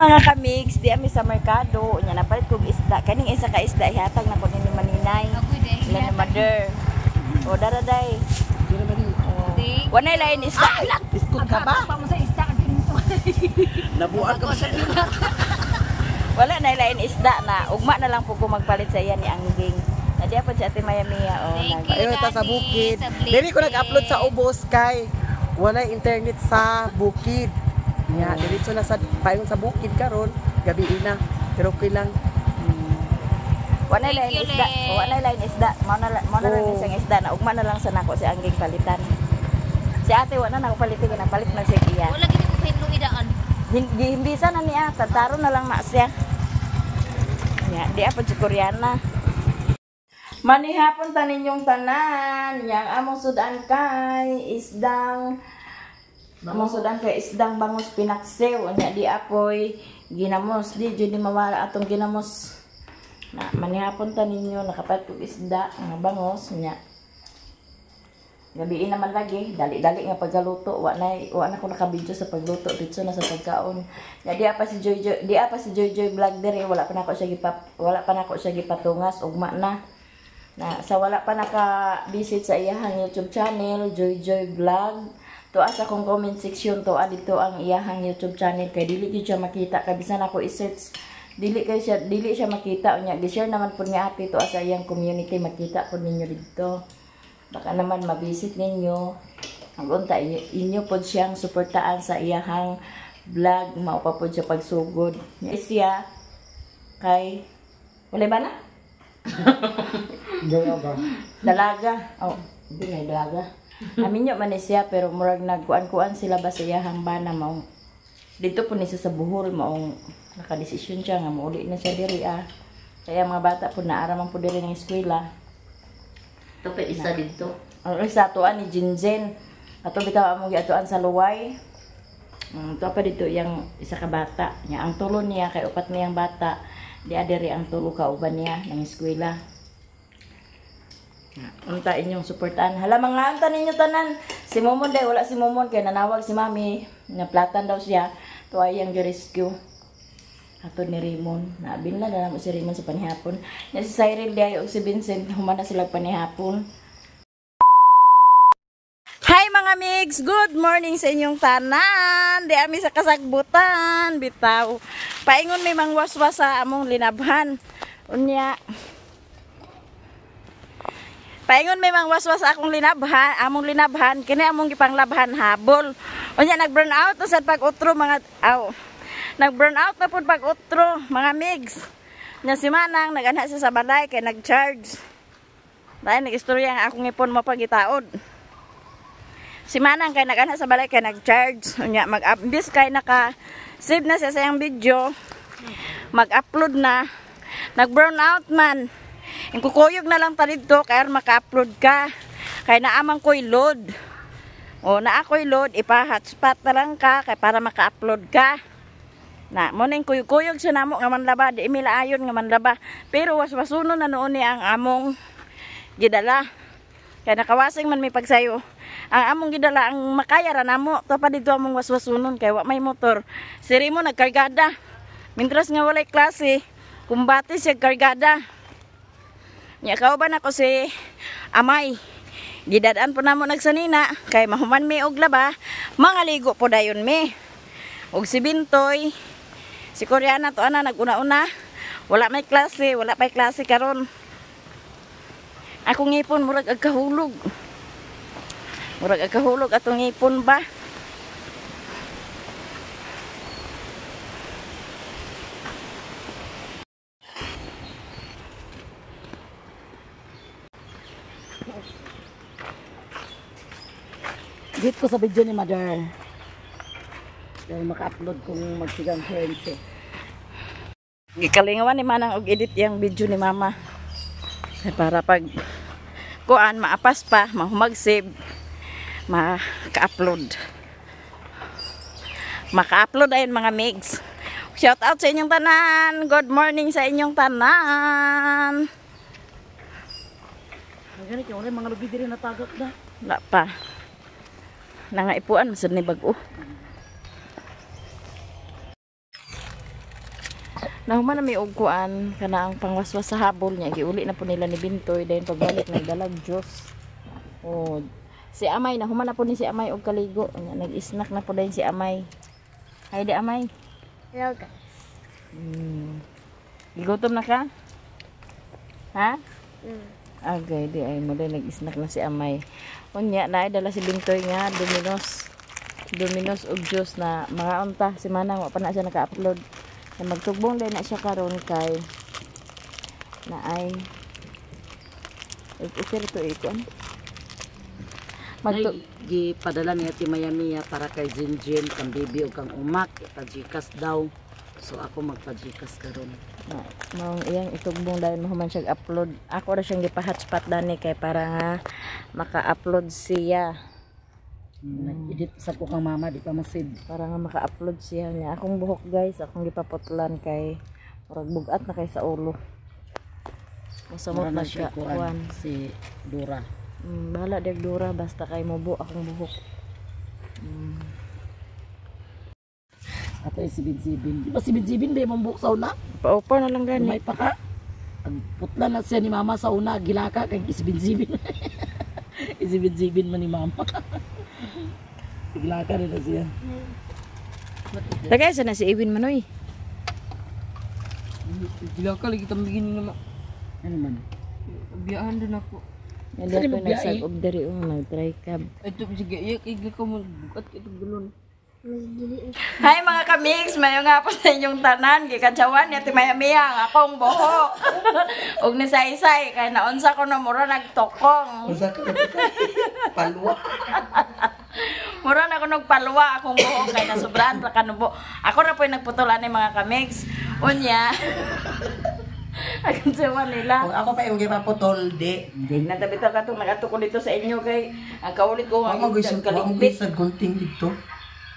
Mga kamigs, di ami sa merkado, unya napalit kog isda. Kaning isa ka isda ihatag na ko ni Maninay. Sila ni Mother. O dara day. Oh. Wanay lain isda. Iskot ka ba? Nabuan ka ba sa Wala na lain isda na. Ugma na lang po ko magpalit sa iya ni Angging. Nadiya po si Ate Maya Mia. Oh, Thank you. Ayun ta sa Daddy, bukid. sa Dili ko blessing. nag-upload sa ubos kay wala internet sa bukid. Nya, diretso na sa paingon sa bukid karon, gabi na. Pero okay lang. Wanay Thank lain you, isda. Len. Wanay lain isda. Mao na lang Oh. isang isda na ugma na lang sa nako si Angging palitan. Si Ate wala na ako palitin, napalit man siya iya. Wala gid ko kahit idaan. Hindi hindi na niya, tataro na lang na siya. Ya, di apa si Koreana. Manihapon ta ninyong tanan, yang among sudan kay isdang among sudan kay isdang bangus pinaksiw, nya di apoy ginamos, di jud ni mawala atong ginamos. Na manihapon ta ninyo nakapalit og isda nga bangos nya. Gabi naman lagi, dali-dali nga pagkaluto, wa na ko nakabidyo sa pagluto, dito na sa pagkaon. Ya di pa si Joy Joy, di pa si Joy Joy vlog diri, wala pa nako siya gipatungas ugma na. Na sa wala pa naka-visit sa iyahang YouTube channel, Joy Joy Vlog. Tuwa sa akong comment section to dito ang iyahang YouTube channel kay dili gyud siya makita kay bisan ako i-search dili siya makita unya gi-share naman pud ni ate to sa iyang community, makita pud ninyo didto. Baka naman mabisit ninyo. Ang unta inyo pod siyang suportaan sa iyahang vlog, mao pa pod siya pagsugod. Siya kay wala ba na? Dalaga. Dalaga. Oh, hindi na dalaga. Aminyo man ni siya pero murag nagkuan-kuan sila ba sa iyahang bana maong dito po ni siya sa Bohol maong nakadesisyon siya nga mauli na siya diri ah. Kaya mga bata po naara man po diri ng eskwela. Ito pa isa dito. Ang isa atuan ni Jinzen. Ato bitaw among giatuan sa Luway. Ito pa dito yang isa ka bata. Nya ang tulo niya kay upat niyang bata. Di adiri ang tulo ka uban niya ng eskwela. Unta inyong suportahan. Hala mga anta ninyo tanan. Si Momon day wala si Momon kay nanawag si Mami. Naplatan daw siya. To ay ang rescue. Ato ni Raymond. Naabin na namo si Raymond sa panihapon. Nya si Cyril day og si Vincent human na sila panihapon. Hi mga migs! Good morning sa inyong tanan! Di ami sa kasagbutan, bitaw. Paingon may mangwaswas sa among linabhan. Unya. Paingon may mangwaswas sa akong linabhan, among linabhan, kini among gipanglabhan habol. Unya nag-burn out na sad pag-utro mga aw. Nag-burn out na pud pag-utro mga migs. Nya si Manang nag-anha siya sa balay kay nag-charge. Dahil nag-istorya ang akong ipon mo pagitaod. Si Manang kay nag-ana sa balay kay nag-charge. Unya mag-imbis kay naka-save na siya sa iyang video. Mag-upload na. Nag-burn out man. Ang kukuyog na lang ta didto kay aron maka-upload ka. Kay naamang ko'y load. O naa ko'y load, ipa-hotspot na lang ka kay para maka-upload ka. Na mo ning kuyog-kuyog siya namo nga manlaba, di imila ayon nga manlaba. Pero waswasuno na noon ni ang among gidala. Kay nakawasing man may pagsayo. Ang among gidala ang makaya ra namo. To pa dito among waswasunon kay wa may motor. Si Remo nagkargada. Mintras nga walay klase, kumbate siya kargada. Nya kauban ako si Amay. Gidad-an po namo nagsanina kay mahuman mi og laba, mga ligo po dayon mi. Og si Bintoy, si Koreana to ana naguna-una. Wala may klase, wala pay klase karon. Akong ngipon murag agkahulog. Murag agkahulog atong ngipon ba? Dito ko sa video ni Mother. Dahil maka-upload kung magsigang friends eh. Gikalingawan ni Manang og edit yang video ni Mama. Para pag kuan maapas pa, mahumagsib, maka-upload. Maka-upload ayun mga migs. Shout out sa inyong tanan. Good morning sa inyong tanan. Ganit yung mga lubi diri natagak na. Wala pa. Nangaipuan masud ni bag-o. Nahuman na may og kuan kana ang pangwaswas sa habol niya, giuli na po nila ni Bintoy, then pagbalik nagdalag Diyos. Oh, si Amay nahuman na po ni si Amay og kaligo. Nya, nag-snack na po din si Amay. Hi di, Amay. Hello, guys. Gigutom na ka? Ha? Mm. Agay, di ay mo din nag-snack na si Amay. Unya na ay dala si Bintoy nga Domino's. Domino's ug juice na mga unta si Manang, wa pa na siya naka-upload. Na magtugbong din na siya karon kay na ay okay to ikon. Magtu Nay, gipadala niya ti Maya Mia para kay Jinjin, kang baby ug kang Umak, ipa-Gcash daw. So ako magpa-Gcash karon. Na, maong iyang itugbong dahil mahuman siya upload. Ako ra siyang gipa-hotspot dani kay para nga maka-upload siya. Nag-edit sa ko kang mama, di pa masid. Para nga maka-upload siya niya. Akong buhok, guys, akong gipaputlan kay murag bugat na kay sa ulo. Masamot Mura na na siya siya kuan kuan. si Dora. Bahala dag Dora, basta kay mubo akong buhok. Ato ay si Binsibin. Di ba si Binsibin ba mong buhok sa una? Paupa na lang gani. Lumay pa ka. Ang putla na siya ni mama sa una, gilaka kay isibin-sibin. Isibin-sibin man ni mama. Gilaka rin na siya. Tagay sa na si Iwin Manoy. Gila ka, lagi tambigin ni naman. Ano man? Biyahan din ako. Hindi Saan ako mo biyahe? nagsag-ob diri oh, nag-try cab. Ito, sige, iyak, igli ko mo. Bukat ito gulon. Hi mga kamix, mayo nga po sa inyong tanan, gikadyawan ni Ate Maya Mia ang akong buhok. Ug ni saysay kay naunsa ko na mura nagtokong. Unsa ka? Palwa. Mura na ako nagpalwa akong buhok kay nasubrahan pa kanubo. Ako ra po'y nagputol ani, mga kamix. Unya. Akong nila. Kung ako pa yung gipaputol, di. Natabi ta katong nagato ko dito sa inyo kay ang kaulit ko Wa ang mo gusto, wa mo kaligpit. gusto gunting dito.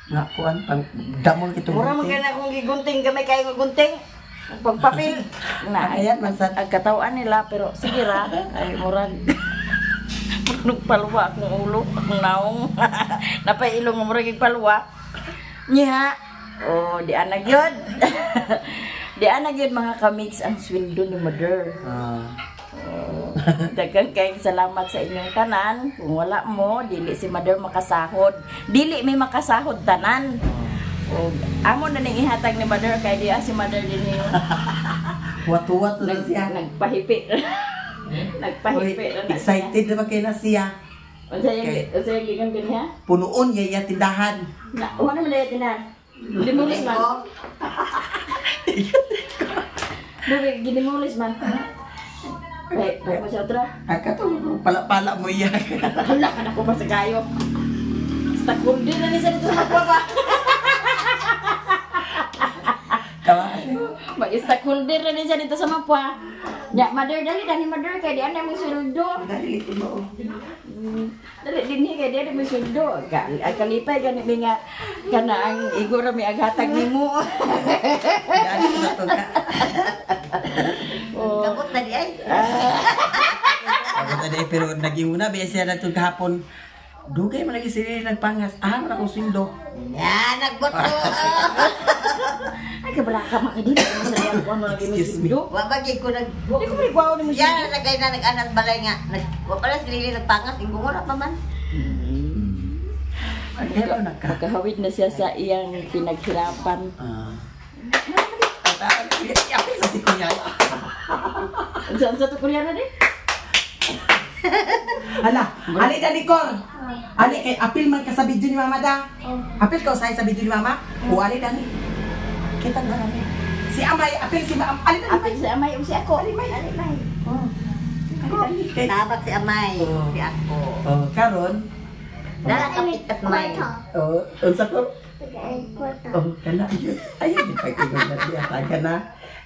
Nga kuan pang damol kitong Mura man gunting. kay na akong gigunting gamay kay nga gunting. Ang pagpapil. Na Ayan man sad. Ang katawan nila, pero sige ra ay murag nagpalwa akong ulo, akong naong. Napailong nga murag palwa. Niya. Oh, di ana gyud. Di ana gyud, mga kamix, ang sweldo ni Mother. Daghang kayong salamat sa inyong tanan. Kung wala mo, dili si Mother makasahod. Dili may makasahod tanan. O, amo na ning ihatag ni Mother kay di si Mother din yung Wat-wat na siya. Nagpahipi. Nagpahipi Uy, na na siya. excited na ba kayo na siya? Unsa yung Okay. Unsa yung gikan dinha? Punoon niya iya tindahan. Na, wala man dayat na. Dimulis man. Dubi, ginimulis man. Ay, ay mo siya otra. Ang kato, pala-pala mo iya. Hala ka na ko pa sa kayo. Stakeholder na ni sa dito sa magpapa. Tawa. Mag-stakeholder na din siya dito sa mapwa. Ya, Mother, dali dali, Mother, kay di ana mong sweldo. Dali likod mo. Oh. Dali dinhi kay di ana mong sweldo. Ka ang kalipay gani mi nga kana ang igo ra mi aghatag nimo. Dali sa to ka. Oh. Kabot na di ay. Ako tadi pero naginguna ba siya na kahapon. Dugay man lagi sila nagpangas. Ah, man akong sweldo. Ya, nagboto. Ay kabala ka makadili mo sa iyang kuan mo lagi mo Excuse me. sweldo. Wa ba gyud ko nag Di ko man ni mo Ya, nagay na nag-anak balay nga. Nag wa pala si Lily nagpangas ingko ra pa man. Kaya na ka. Makahawid na siya sa iyang pinaghirapan. Ah. Apil sa si kuya. Unsa unsa to kuryana di? Hala, ali dali kor. Ali kay apil man ka sa video ni Mama da. Apil ka usahay sa video ni Mama. O ali dani. Kita na kami. Si Amay, apil si Mama. Ali dani. Apil si Amay ug si ako. Ali may. Ali may. Oh. Ali dani. Kay Tabak si Amay, Oh. si ako. Oh, karon. Dala kapit at may. Oh, unsa ko? Oh, kana yun. Ayun, di pag-ingon na diya. Taga na.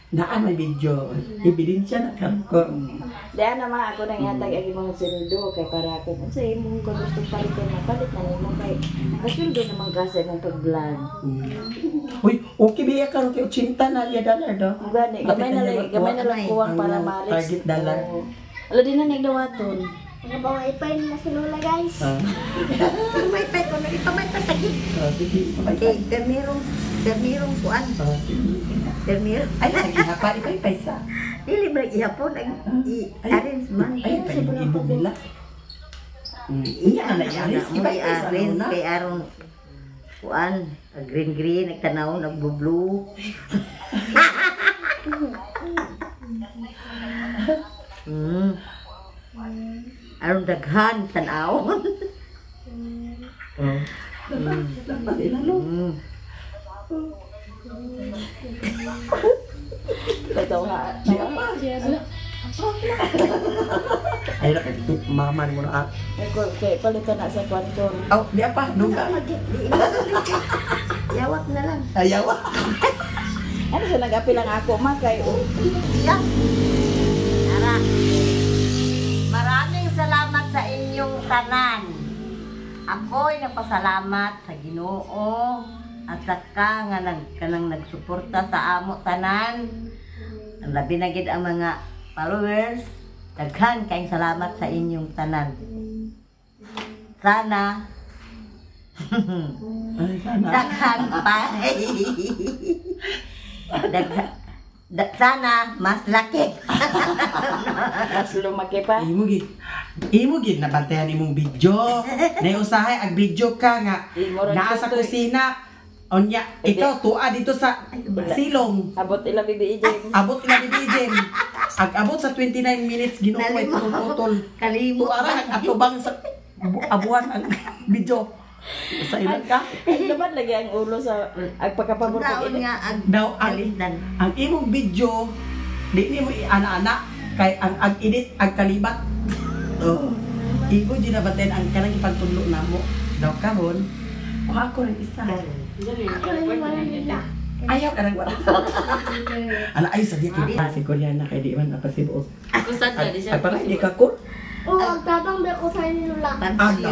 Naa may video. Ebidensya na karon ko. Diyan na ma ako nang ihatag ang imong sweldo kay para kung unsa imong gusto palitan, mapalit na nimo kay nakasweldo naman ka sa imong pag-vlog. Uy, okay biya karon kay 80 na liya dollar do. Mo gani gamay na lang kuwang para Ang ma-reach. target dollar. Oo. Ala din na nagdawaton. Nagpa-wifi na si Lola, guys. Ah. May pa ko nagipamay pa tagig. Oh, sige. Okay, pero Permirong kuan. Permir. Ay, sige ha pa, ipay sa. Dili ba ihapon ang i-arrange man. Ay, pa ibog nila. Iya na i-arrange, Mo ipay sa i-arrange na. kay aron kuan, green green nagtanaw nagbo-blue. Aron daghan tan-awon. Oh. Dapat ilalo. Tatawa. Ay, na kay maman mo na ah. Kay palitan na sa kwarto. Oh, di apa, duga. Yawak na lang. Ayaw. Ano siya nag-apil ang ako ma kay oh. Siya. Tara. Maraming salamat sa inyong tanan. Ako'y nagpasalamat sa Ginoo at saka nga kanang nagsuporta sa amo tanan. Ang labi na gid ang mga followers. Daghan kayong salamat sa inyong tanan. Sana Ay, sana. daghan pa. Sana mas laki. Mas lumaki pa. Imo gid. Imo gid nabantayan imong video. Nay usahay ag video ka nga naa sa kusina. Onya, ikaw tuwa dito sa silong. Abot ila bibi James. Abot ila bibi James. Ag abot sa 29 minutes Ginoo may putol. Kalimot. Tuwa ra nag-atubang sa abuhan ang video. Sa ilan ka? Ay naman lagi ang ulo sa ag pagkapabor Taon nga ang Daw ang imong video di nimo iana-ana kay ang ag-edit ag kalibat. Oh. Imo di na baten ang kanang ipagtudlo namo. Daw karon kuha ko rin isa. Ayaw ka nang wala. Ala ay sa di kay si Koreana kay di man napasibuok. Kusad na di siya. Ay para di ka ko. Oo, ang tabang ba ko sa nila. Ala.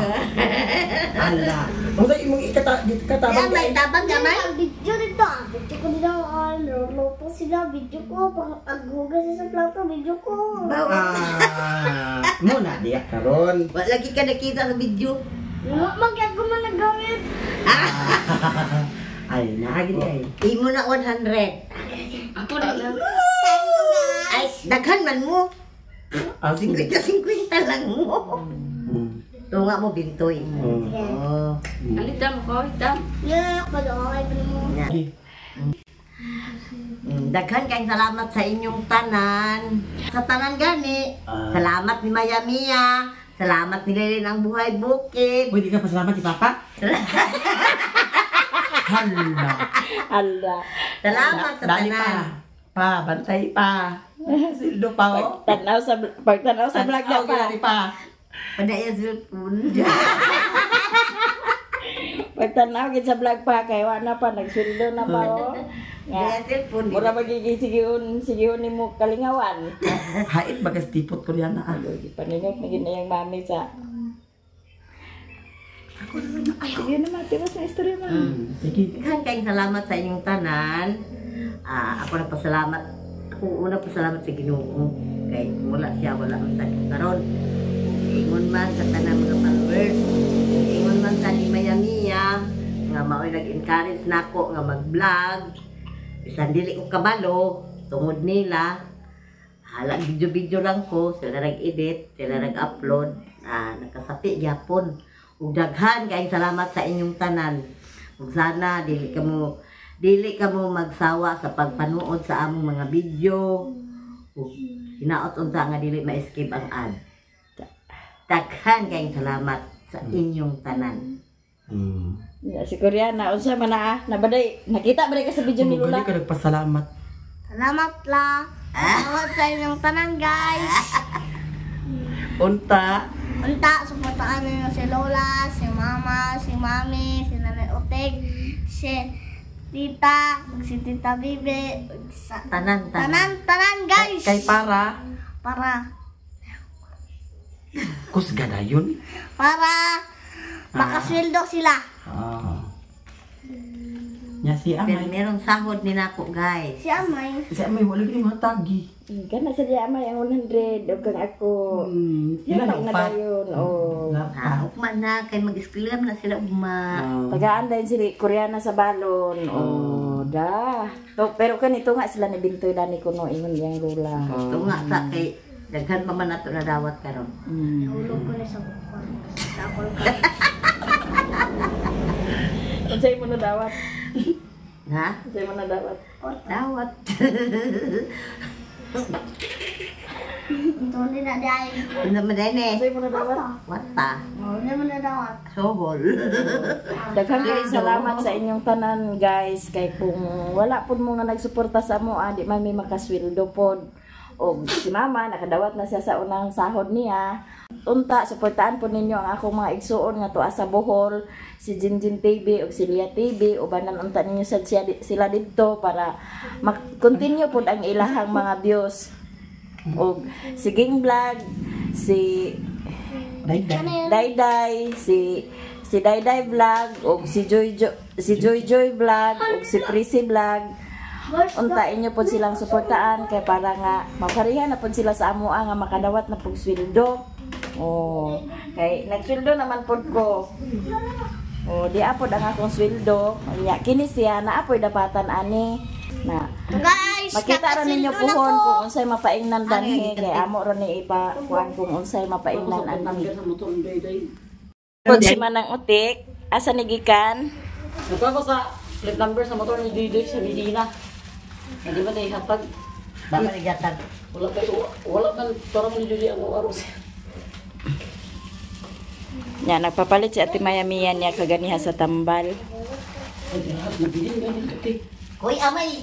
Ala. Unsa imong ikatabang Yan, may tabang gamay. Ang video dito, ang video ko dito, luto sila, video ko, pag aghugas sa plato, video ko. Ah, muna diya karon. Wala lagi ka nakita sa video. Mag ako man naggamit. Ay, naagi ay. Imo na 100. Ako na lang. Ay, daghan man mo. Ah, sige. 50-50 lang mo. Tunga mo bintoy. Oh. Alitam ko, itam. Yeah, pag-okay pa mo. Daghan kayong salamat sa inyong tanan. Sa tanan gani. Salamat ni Maya Mia. Salamat ni Lelin ang Buhay Bukid. Uy, di ka pasalamat ni Papa? Hala. Ala. Salamat sa Dali pa. tanan. Pa, bantay pa. Sildo pa, oh. Pagtanaw sa vlog na pa. Dali pa. Padaya cellphone. Pagtanaw gid sa vlog pa kay wa na pa nagsweldo na pa oh. Nga. Padaya cellphone. Mura magiging sigihon nimo kalingawan. Hait bagas tipot ko yan na. Paningot na gid na yung mami sa. Sige na ma, tiras na istorya ma. Sige. Daghan kayong salamat sa inyong tanan. Ako nagpasalamat. Ako una pasalamat sa Ginoo kay wala siya wala man sa karon. Ingon man sa tanan mga followers. Ingon man sa ni Maya Mia nga mao'y nag-encourage nako nga mag-vlog. Bisan dili ko kabalo tungod nila. Hala video-video lang ko, sila nag-edit, sila nag-upload. Nakasapi gyapon. Ug daghan kayong salamat sa inyong tanan. Ug sana dili ka mo magsawa sa pagpanuod sa among mga video. Ug hinaot unta nga dili ma-escape ang ad. Daghan kayong salamat sa inyong tanan. Ya, si Koreana, unsa man na nabaday, nakita ba ka sa video ni Lula? Gani ka nagpasalamat. Salamat la. Salamat sa inyong tanan, guys. Unta. Unta, suportahan ninyo si Lola, si Mama, si Mami, si Nanay Otek, si Tita, si Tita Bibi, sa Tanan, tanan. tanan, tanan, guys. Kay para. Para. Kusga na yun. Para makasweldo sila. Ah. Nya si Pero Amay. merong sahod ni nako, guys. Si Amay. Si Amay wala gid mo tagi. Kana sa diya may ang 100 og kang ako. Ilan Yatak ang na upat? dayon. Oh. Ah, ugma na kay mag-eskwela man na sila ugma. Tagaan din si Koreana sa balon. Oh, da. To, pero kanito nga sila ni Bintoy dani kuno ingon iyang lola. Ito nga sa kay daghan pa man nato na dawat karon. Nahulog ko na sa kuwan. Sa akong Unsay mo na dawat? Ha? Unsay mo na dawat? Dawat. Ito na dahil. Ano man din eh? Unsay mo na dawat? Wata. Hindi mo na dawat. Sohol. Daghang kay salamat sa inyong tanan guys kay kung wala pud mo nga nagsuporta sa amo di man may makasweldo pod. Og si mama nakadawat na siya sa unang sahod niya. Unta suportaan po ninyo ang akong mga igsuon nga tuwa sa Bohol, si Jinjin TV ug si Lia TV. Ubanan unta ninyo sad siya, sila didto para mag-continue pod ang ilahang mga views. Og si Ging Vlog, si Dayday. Dayday, si si Dayday Vlog ug si Joy Joy, si Joy Joy Vlog ug si Prissy Vlog. Unta inyo pod silang suportaan kay para nga maparihan na pod sila sa amoa nga makadawat na pug sweldo. Oh, kay nagsweldo naman pod ko. Oh, di apod ang akong sweldo. Nya kini siya na apoy dapatan ani na Guys, makita ra ninyo nakasildo na puhon ko. kung unsay mapaingnan danhi kay amo ra ni ipa kuan kung unsay mapaingnan ani. Sa motor ni Dayday. Pod si Manang Utik, asa ni gikan? Nagkuha ko sa plate number sa motor ni Dayday sa Medina. Hindi ba tayo hatag? Baka nigatag. Wala kay wala man para man ni Dayday ang aro siya. Nya nagpapalit si Ate Maya Mia niya kaganiha sa tambal. Ay, lahat nabilin ganin kati. Kuy amay,